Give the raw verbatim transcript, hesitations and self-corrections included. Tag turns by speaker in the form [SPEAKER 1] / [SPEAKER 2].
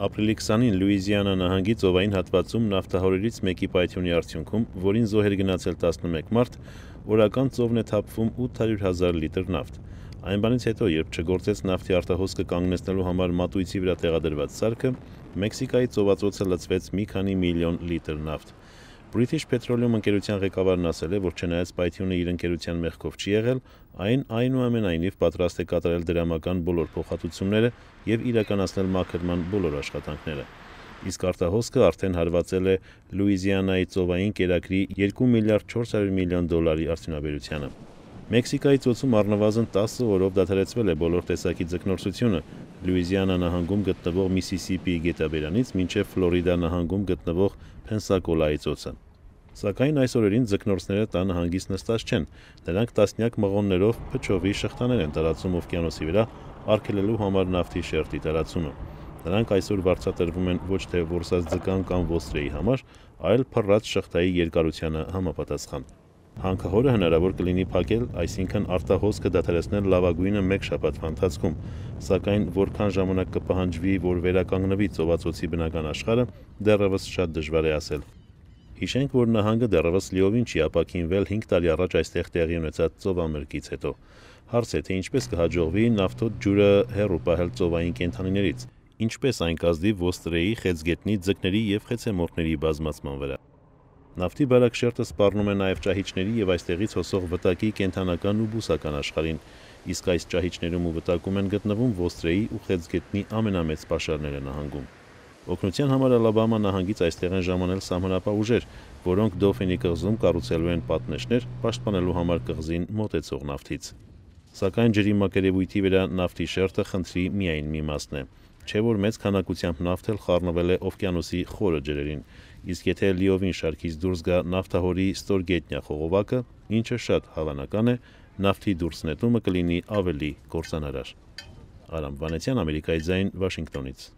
[SPEAKER 1] Ապրիլի քսանին Լուիզիանա նահանգի ծովային հատվածում նավթահորերից մեկի պայթյունի արդյունքում, որին զոհ էր գնացել տասնմեկ մարդ, օրական ծովն է թափվում ութ հարյուր հազար լիտր նավթ։ Այն բանից հետո, երբ չգործեց նավթի արտահոսքը կանգնեցնելու համար մատույցի վրա տեղադրված սարքը, Մեքսիկայի ծովածոցը լցվեց մի քանի միլիոն լիտր նավթ։ British Petroleum ընկերության ղեկավարն ասել է, որ չնայած պայթյունը իր ընկերության մեղքով չի եղել, այն այնուամենայնիվ պատրաստ է կատարել դրամական բոլոր փոխհատուցումները և իրականացնել մաքրման բոլոր աշխատանքները։ Իսկ արտահոսքը արդեն հարվածել է Լուիզիանայի ծովային կերակրի երկու միլիարդ չորս հարյուր միլիոն դոլարի արդյունաբերությանը։ Մեքսիկայի ծոցում առնվազն տասը օրով դադարեցվել է բոլոր տեսակի ձկնորսությունը Լուիզիանա նահանգում գտնվող Միսիսիպիի գետաբերանից մինչև Ֆլորիդա նահանգում գտնվող Փենսակոլայի ծոցը։ Սակայն այս օրերին ձկնորսները տանը հանգիստ նստած չեն, նրանք տասնյակ մղոններով փչովի շղթաներ են տարածում օվկիանոսի վրա արգելելու համար նավթի շերտի տարածումը։ Նրանք այսօր վարձատրվում են ոչ թե որսած ձկան կամ ոստրեի համար, այլ փռած շղթայի երկարությանը համապատասխան։ Հանքահորը հնարավոր կլինի փակել, այսինքն արտահոսքը դադարեցնել լավագույնը մեկ շաբաթվա ընթացքում, սակայն որքան ժամանակ կպահանջվի, որ վերականգնվի ծովածոցի բնական աշխարհը, դեռևս շատ դժվար է ասել։ Հիշենք, որ նահանգը դեռևս լիովին չի ապաքինվել հինգ տարի առաջ այստեղ տեղի ունեցած ծովամրգից հետո։ Հարց է, թե ինչպես կհաջողվի նավթոտ ջուրը հեռու պահել ծովային կենդանիներից, ինչպես այն կազդի ոստրեի, խեցգետնի, ձկների և խեցեմորտների բազմացման վրա։ Նավթի բարակ շերտը սպառնում է նաև ճահիճների և այստեղից հոսող վտակի կենդանական ու բուսական աշխարհին, իսկ այս ճահիճներում ու վտակում են գտնվում ոստրեի ու խեցգետնի ամենամեծ պաշարները նահանգում։ Օգնության համար Ալաբամա նահանգից այստեղ են ժամանել սահմանապահ ուժեր, որոնք Դոֆինի կղզում կառուցելու են պատնեշներ, պաշտպանելու համար կղզին մոտեցող նավթից։ Սակայն ջրի մակերևույթի վրա նավթի շերտը խնդրի միայն մի մասն է, չէ որ մեծ քանակությամբ նավթ էլ խառնվել է օվկիանոսի խորը ջրերին, իսկ եթե լիովին շարքից դուրս գա նավթահորի ստորգետնյա խողովակը, ինչը շատ հավանական է, նավթի դուրս նետումը կլինի ավելի կործանարար։ Արամ Վանեցյան, Ամերիկայի ձայն, Վաշինգտոնից։